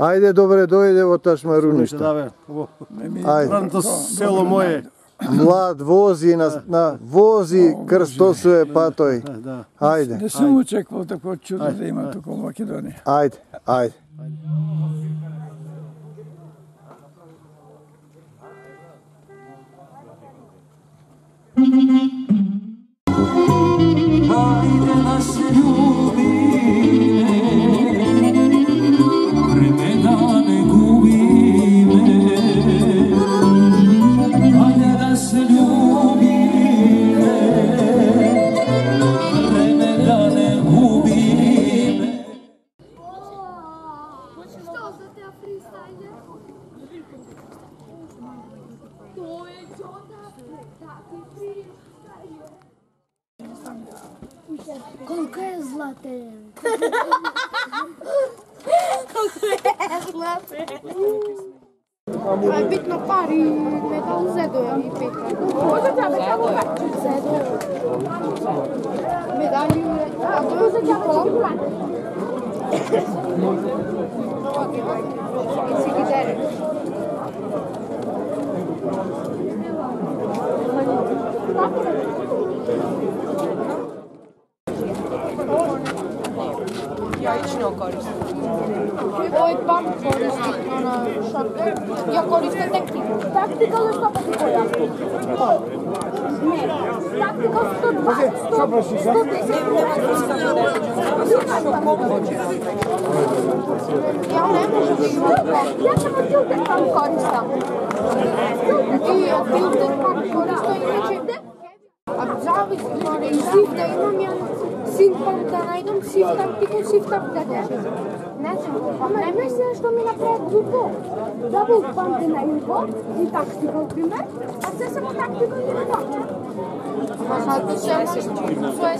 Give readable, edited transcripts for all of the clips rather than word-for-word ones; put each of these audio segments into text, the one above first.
Ајде, добре, дојде во Ташмаруниште. Ајде. Село мое. Млад вози вози крстосуе патој. Ајде. Не сум очекувал такво чудо да има тука во Македонија. Ајде, ајде. Ајде да се љубиме, времена не губиме. Ајде да се љубиме, времена не губиме. Што за теа фристајлер? Тој е Џота, таки фристајлер. Колко е златен? Колко е златен? Това е битно пари, метал зедоја и петра. Може да металове? Зедоја. Медали, а тоа за диплом? И си ги дереш. Јајчно користам. Овој пак користи на шорте. Ја користам тактикал. Тактикал е 100 пати појасно. Не, тактикал 120, 110. Ја не можам да имам. Ја само филтер пак користам. И филтер пак користам, иначе а зависи, море и сив да имам ја сив пак да најдам, сив тактикал, сив да кажем. Не знам, најмислено што ми направи глупо. Дабл памп на инфо и тактикал пример, а се само тактикал и на това. Защото се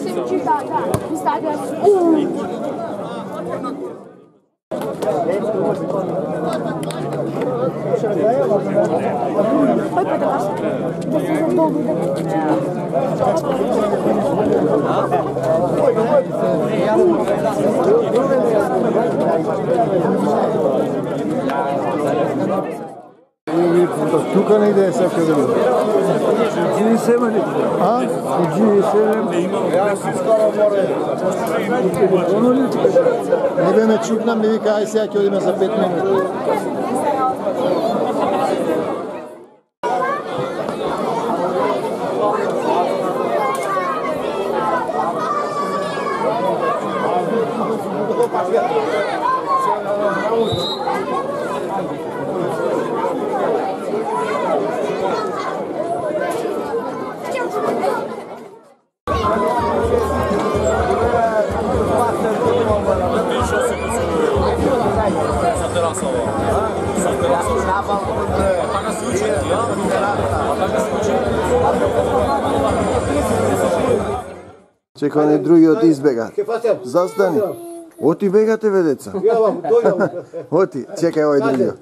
SMG, да. И ставаш Тука негде е сакам да видам. G7 ли? А? G7. Не бе ме чукнам, ми вика, ај сега ќе одиме за 5 минути. Чекај, не другиот избега. Застани. Оти бегате, ве деца. Оти, чекај овој другиот.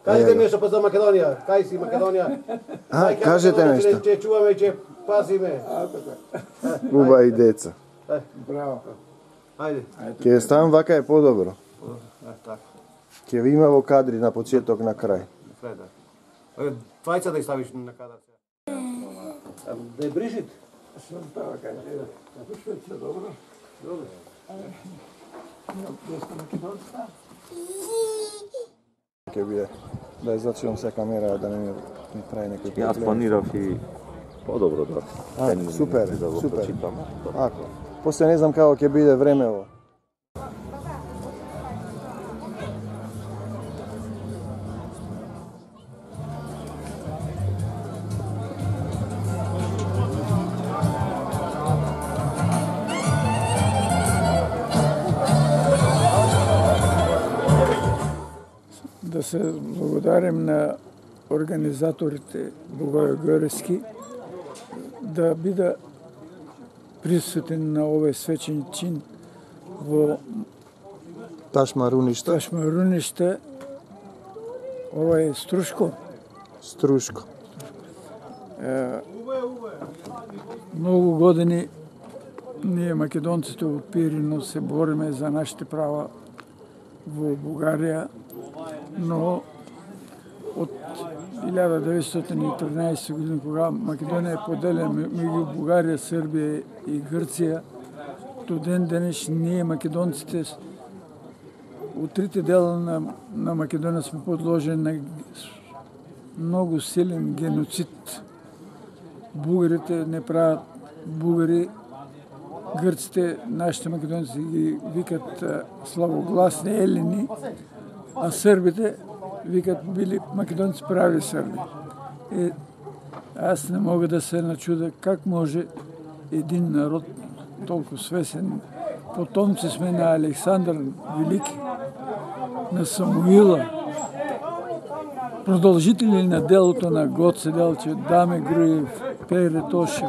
Кажете нешто па за Македонија. Кај си Македонија? Кажете нешто. Че чуваме, че пазиме. Убави деца. Браво. Ајде. Ке ставам вака е подобро. Ке ви има во кадри на почеток, на крај. Двајца да ставиш на кадар. Да е Брижит? Што става кај? Швеца, добро? Добро. Ке биде. Да излачувам се камера да не ми прави некој проблем. Јас планирав и подобро да. Супер, да го супер. прочитам. Ако. После не знам како ќе биде времево. Да се благодарим на организаторите Богојогорески да биде присутен на овој свечен чин во Ташмаруниште. Ова е Струшко. Многу години ние македонците во Пирино се бориме за нашите права во Бугарија но од 1913 година, кога Македонија е поделена меѓу Бугарија, Србија и Грција, до ден денеш ние македонците од трите дела на Македонија сме подложени на многу силен геноцид. Бугарите не прават бугари, грците, нашите македонци ги викат славогласни елини, а србите викат били македонци прави срби. Аз не мога да се начуда как може един народ толку свесен. Потомци сме на Александар Велики, на Самуила, продолжители на делото на Гоце Делчев, Даме Груев, Пере Тошев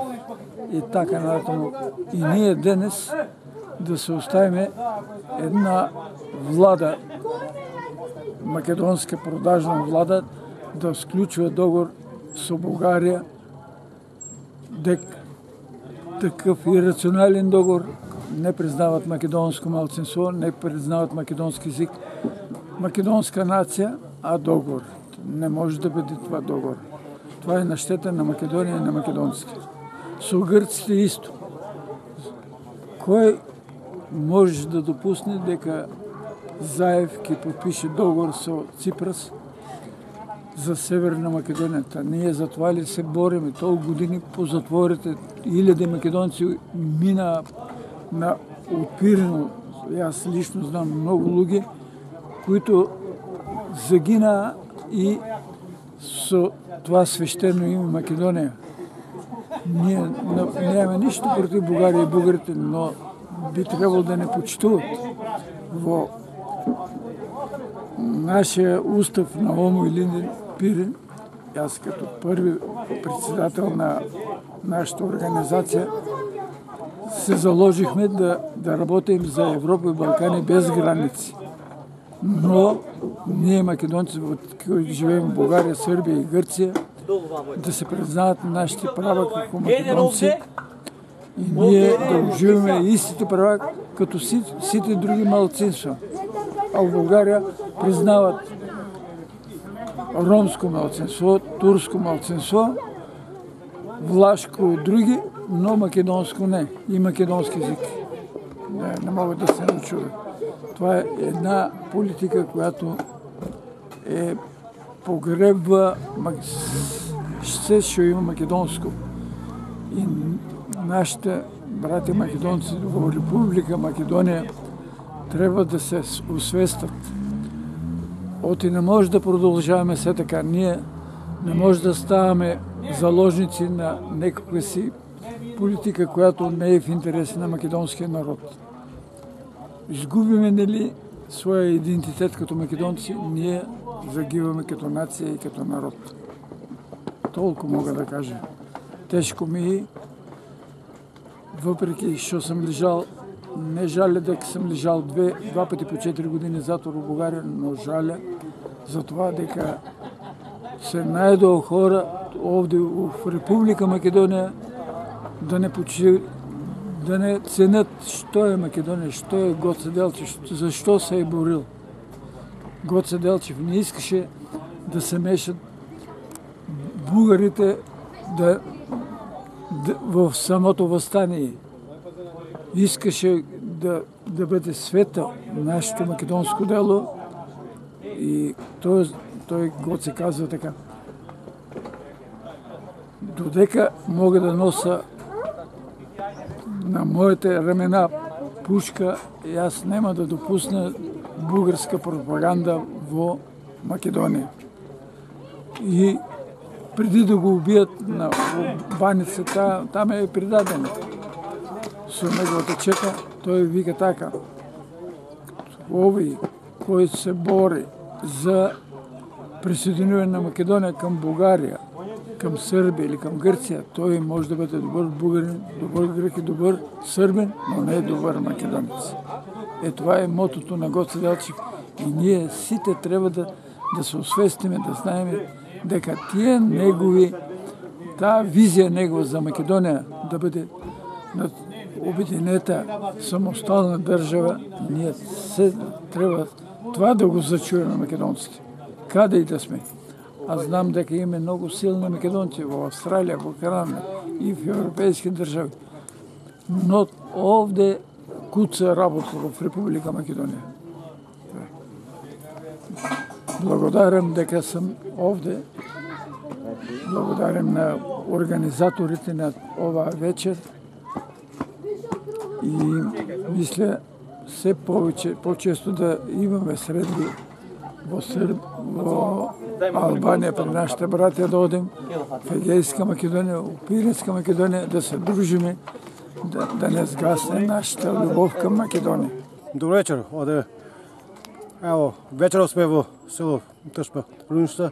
и така натаму. И ние денес да се оставиме една влада, македонска продажна влада, да склучува договор со Бугарија, такъв ирационален договор, не признават македонско малцинство, не признават македонски език, македонска нација, а договор. Не може да биде това договор. Това е на щета на Македонија и на македонците. Со грците исто. Кој може да допусне дека Заев ќе подпише договор со Ципрас за Северна Македонија? Ние за това ли се бориме? Толку години по затворите, илјади македонци мина на отпирено. Јас лично знам многу луѓе които загинаа и со това свештено име Македонија. Ние немаме ништо против Бугарија и бугарите, но би требало да не почитуват. Во нашия устав на Омо Илинден Пирин, јас като први председател на нашата организација, се заложихме да работим за Европа и Балкани без граници. Но ние македонци, кои живеем в Бугарија, Србија и Грција, да се признават нашите права како македонци и ние да уживаме истите права като сите други малцинства. А в Бугарија признават ромско малцинство, турско малцинство, влашко и други, но македонско не. И македонски език. Не могат да се начудат. Това е една политика, която погребва се што има македонско. И нашите брати македонци во Република Македонија треба да се освестат. Оти не може да продолжаваме се така. Ние не може да ставаме заложници на некаква си политика, която не е в интерес на македонския народ. Изгубиме ли своя идентитет като македонци, ние загиваме като нација и като народ. Толку мога да кажа. Тешко ми, въпреки што съм лежал, не жаля дека съм лежал два пъти по 4 години затвор в Бугарија, но жаля за това дека се најдоа хора овде в Република Македонија да не ценят што е Македонија, што е Гоце Делчев, зашто се е борил. Гоце Делчев не искаше да се мешат бугарите в самото въстание. Искаше да бъде света нашето македонско дело и той Гоце казва така: додека мога да носа на моите рамена пушка, и аз нема да допусна бугарска пропаганда во Македонија. И преди да го убият на баницата, там е предаден со неговата чека, той вика така: овој кој се бори за присоединување на Македонија към Бугарија, към Србија или към Грција, той може да бъде добър бугарин, добър грек и добър сърбин, но не е добър македонец. Това е мотото на Гоце Делчев. И ние сите трябва да се освестиме, да знаеме дека тие негови, таа визија негова за Македонија да бъде обединета самостална држава, ние се треба това да го зачуваме македонците. каде и да сме. А знам дека има многу силни македонци во Австралија, во Канада и в европейски држави. Но овде куца работа во Република Македонија. Благодарам дека сум овде. Благодарам на организаторите на оваа вечер. И мисля се повеќе, почесто да имаме средби во Албанија при нашите братја да одем, в Егејска Македонија, у Пиринска Македонија, да се дружиме, да не сгасне нашата љубов кам Македонија. Добро вечер, оде. Ево, вечеров сме во село Ташпа Руништа,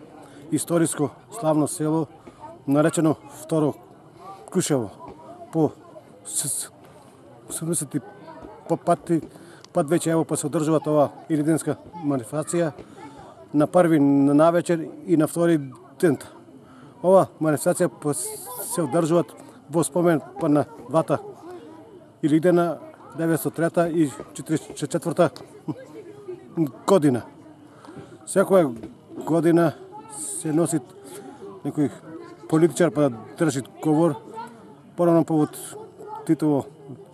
историско славно село, наречено Второ Крушево. По 70 пат веќе ево па се одржува ова илиденска манифестација на први навечер и на втори ден. Ова манифестација се одржуваат во спомен па на двата Илидена 903 и 44 година. Секоја година се носи некој политичар па да држи говор. Порано повод Титово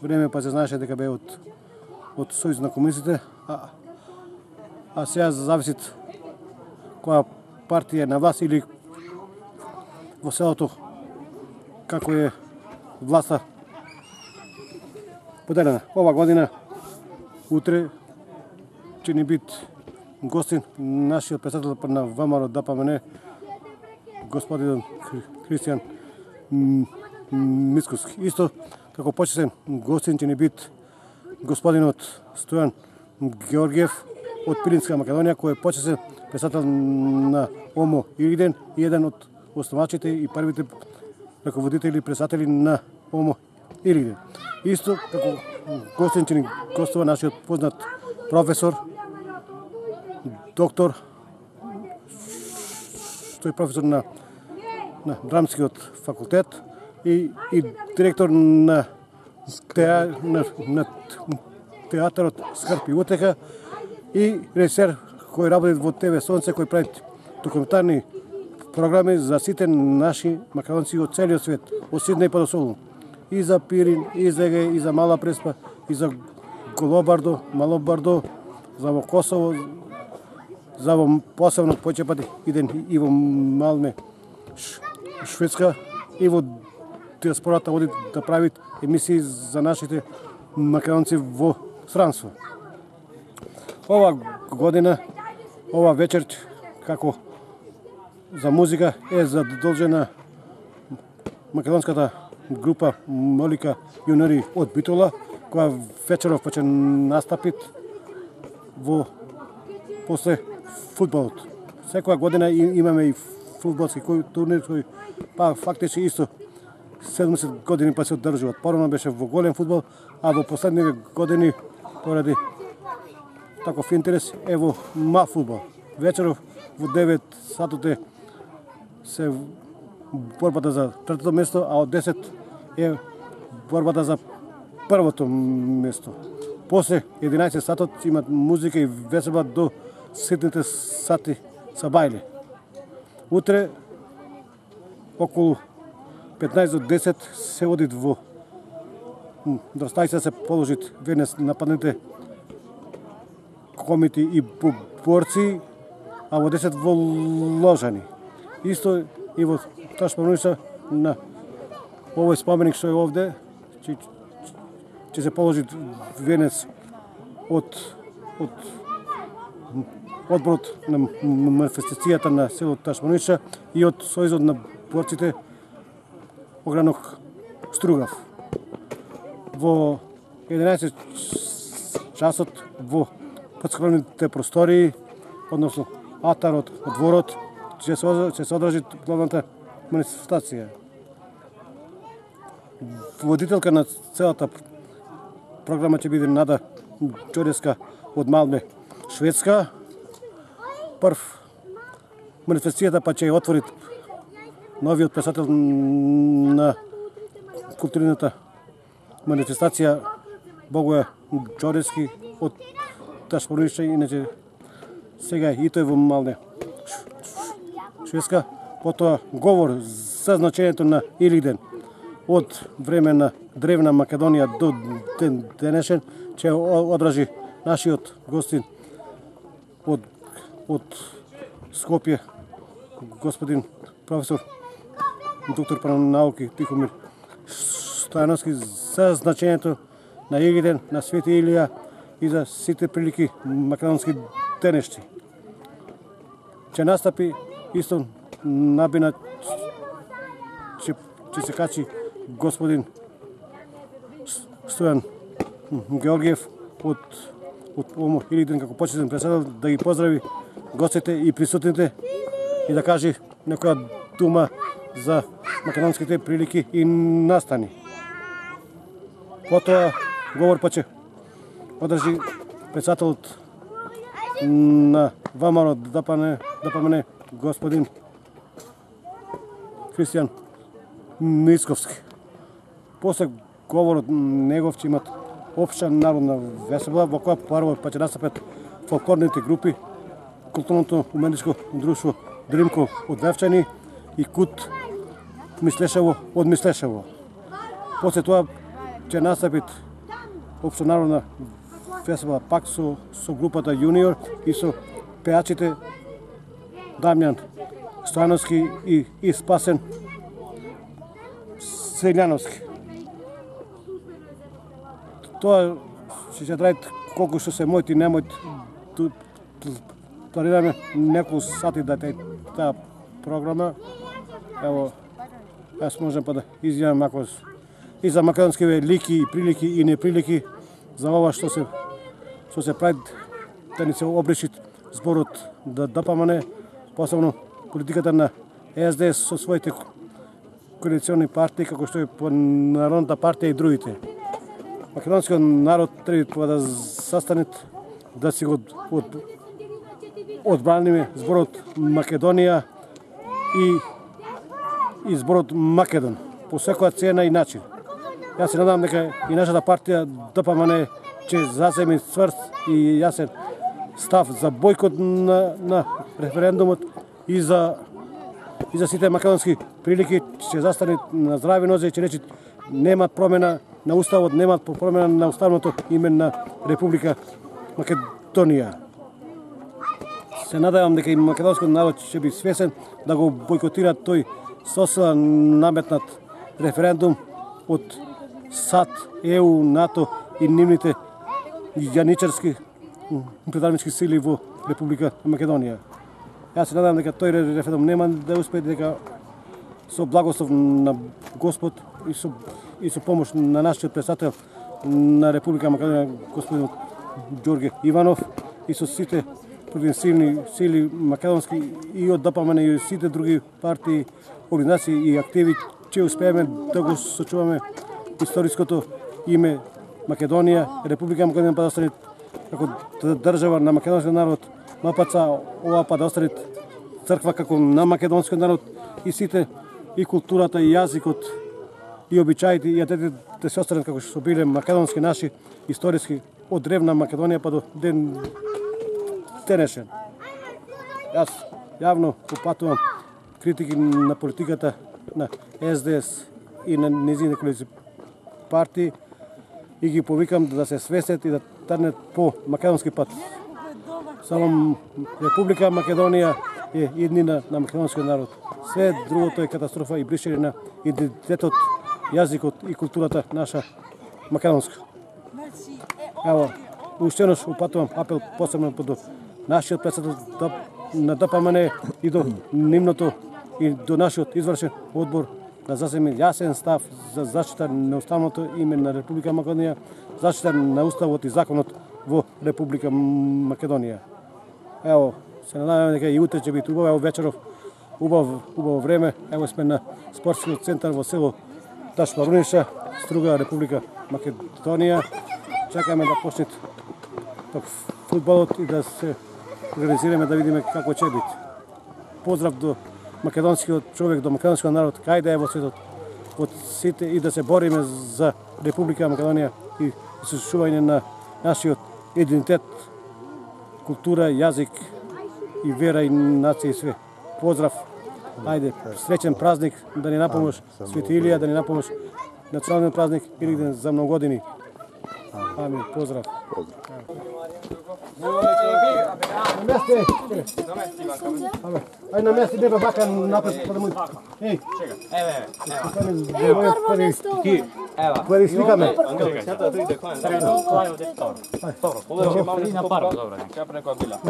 време па се знаеше дека бе од Сојуз на комунистите, а сега зависи која партија е на власт или во селото како е власта поделена. Ова година, утре, ќе ни бит гостин нашиот председател на ВМРО ДПМН, господин Христијан Мицкоски. Исто како почесен гостин ќе ни бит господинот Стојан Георгиев од Пиринска Македонија, кој е почесен председател на ОМО Илиден и еден од основачите и првите раководители и председатели на ОМО Илиден. Исто како гостин ќе ни гостува нашиот познат професор, доктор, тој професор на драмскиот факултет и директор на театарот Скрп и утеха и режисер кој работи во ТВ Сонце, кој прави документарни програми за сите наши македонци од целиот свет, од Сиднеј па до Солун. И за Пирин, и за Егеј, и за Мала Преспа, и за Голобардо, Малобардо, за во Косово, за во посебно повеќе пати иден и во Малме, Шведска, и во диаспората оди да прави емисии за нашите македонци во странство. Ова година, ова вечер, како за музика е задолжена македонската група Молика Јунари од Битола, која вечеров ќе настапит во после фудбалот. Секоја година имаме и фудбалски турнир кој па фактички исто 70 години па се одржуваат. Порано беше во голем фудбал, а во последните години поради таков интерес е во мал фудбал. Вечеров во 9 сатоте се борбата за третото место, а од 10 е борбата за првото место. После 11 сатот имат музика и веселба до ситните сати са бајле. Утре околу 15 до 10 се одит во Дрстајца се положит венец нападните комити и борци, а во 10 во Ложани. Исто и во Ташпа Руништа на овој споменик што е овде, ќе се положи венец од одборот на манифестацијата на село Ташпа Руништа и од Сојузот на борците Огранок Стругав. Во 11 часот во подскромните простории, односно атарот, дворот, ќе се одржи главната манифестација. Водителка на целата програма ќе биде Нада Ѓоревска од Малме, Шведска. Прв манифестацијата па ќе ја отвори новиот председател на културната манифестација Богоја Ѓоревски од Ташпа Руништа, иначе сега и тој во Малме, Шведска, потоа говор за значењето на Илиден од време на древна Македонија до ден денешен, ќе одражи нашиот гостин од Скопје, господин професор доктор по науки Тихомир Стојановски, за значењето на Илиден, на Свети Илија и за сите прилики македонски денешци. Ќе настапи исто набина, ќе се качи господин Стојан Георгиев од ОМО Илиден како почетен председател, да ги поздрави гостите и присутните и да каже некоја дума за македонските прилики и настани. Потоа говор па ќе одржи председателот на ВМРО ДПМН господин Христијан Мицковски. После говорот негов ќе имат општа народна весела, во која прво па ќе настапат фолклорните групи, културното уметничко друштво Дримко од Вевчани и Кут Мислешево од Мислешево. После тоа ќе настапит општа народна весела пак со групата Јуниор и со пеачите Дамјан Стојановски и Спасен Селјановски. Тоа ќе траи колку што се мојт и немојт. Планираме неколку сати да таа програма. Ево, јас можам па да изјавам ако и за македонскиве лики и прилики и неприлики за ова што се прави да ни се обречит зборот да ДПМН, посебно политиката на СДС со своите коалициони партии, како што е по Народната партија и другите. Македонскиот народ треба да застанет, да си го одбраниме зборот Македонија и зборот Македон по секоја цена и начин. Јас се надам дека и нашата партија ДПМН ќе заземе цврст и јасен став за бојкот на референдумот и за сите македонски прилики, ќе застане на здрави нозе и ќе рече немат промена на уставот, немат промена на уставното име на Република Македонија. Се надевам дека и македонскиот народ ќе би свесен да го бојкотира тој сосила наметнат референдум од САД, ЕУ, НАТО и нивните јаничарски предавнички сили во Република Македонија. Јас се надевам дека тој референдум нема да успее, дека со благослов на Господ и со помош на нашиот председател на Република Македонија, господин Ѓорѓе Иванов, и со сите провинцијни сили македонски и од ДПМН и сите други партии, организации и активи, ќе успееме да го сочуваме историското име Македонија, Република Македонија, па да остане како држава на македонскиот народ, МПЦ, ова па да остане црква како на македонскиот народ и сите и културата и јазикот и обичаите и атете да се останат како што биле македонски наши историски од древна Македонија па до ден денешен. Јас јавно упатувам критики на политиката на СДС и на незините коалиции партии и ги повикам да се свесет и да тргнат по македонски пат. Само Република Македонија е иднина на македонскиот народ. Све другото е катастрофа и бришење на идентитетот, јазикот и културата наша македонска. Ево, уште еднаш упатувам апел посебно до нашиот председател на ДПМН и до нивното и до нашиот извршен одбор да заземе јасен став за заштита на уставното име на Република Македонија, заштита на уставот и законот во Република Македонија. Ево, се надевам дека и утре ќе биде убаво, вечеров убаво време. Ево сме на спортскиот центар во село Ташмаруниша, Струга, Република Македонија. Чекаме да почне фудбалот и да се организираме да видиме како ќе биде. Поздрав до македонскиот човек, до македонскиот народ, кај да е во светот, од сите и да се бориме за Република Македонија и сочувување на нашиот идентитет, култура, јазик и вера и нација и све. Поздрав Ајде, среќен празник да ни напомниш Свети Илија, да ни напомниш национален празник Илигден за многу години. Амин, поздрав. Ајде на место, деба бака напред па да му. Еј. Еве. Први сликаме.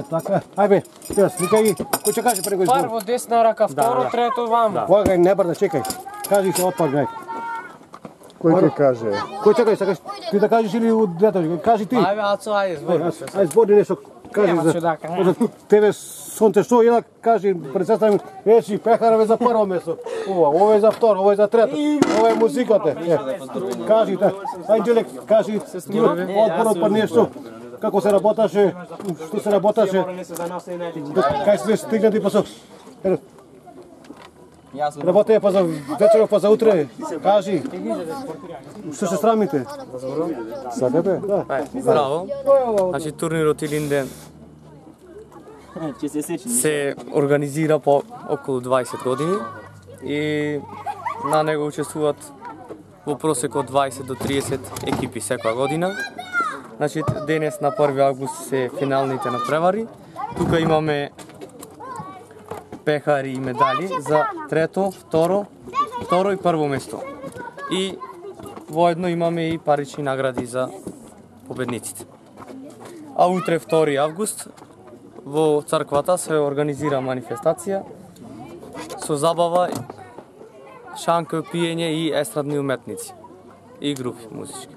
Така, ајде, ти сликај. Кој ќе каже прво избор? Прво десна рака, второ, трето вамо. Погај, не брда, чекај. Кажи се отпак, Кој ќе каже? Кој чекај, сакаш ти да кажеш или од детето? Кажи ти. Ајде, Ацо, ајде, збори. Ајде, збори нешто. Кажи за тебе сонце што ја кажи председател речи пехараве за прво место. Ова е за второ, ова е за трето. Ова е музиката. Кажи та. Ајде, кажи одборот па нешто. Како се работаше? Што се работаше? Кај сме стигнати па со работеја па за вечеров, па за утре. Кажи. Што се срамите? Сакате? Да. Браво. Значи турнирот Илинден се организира по околу 20 години и на него учествуваат во просек од 20 до 30 екипи секоја година. Значи денес на 1 август се финалните надпревари. Тука имаме пехари и медали за трето, второ и прво место. И воедно имаме и парични награди за победниците. А утре 2 август во црквата се организира манифестација со забава, шанка, пиење и естрадни уметници и групи музички.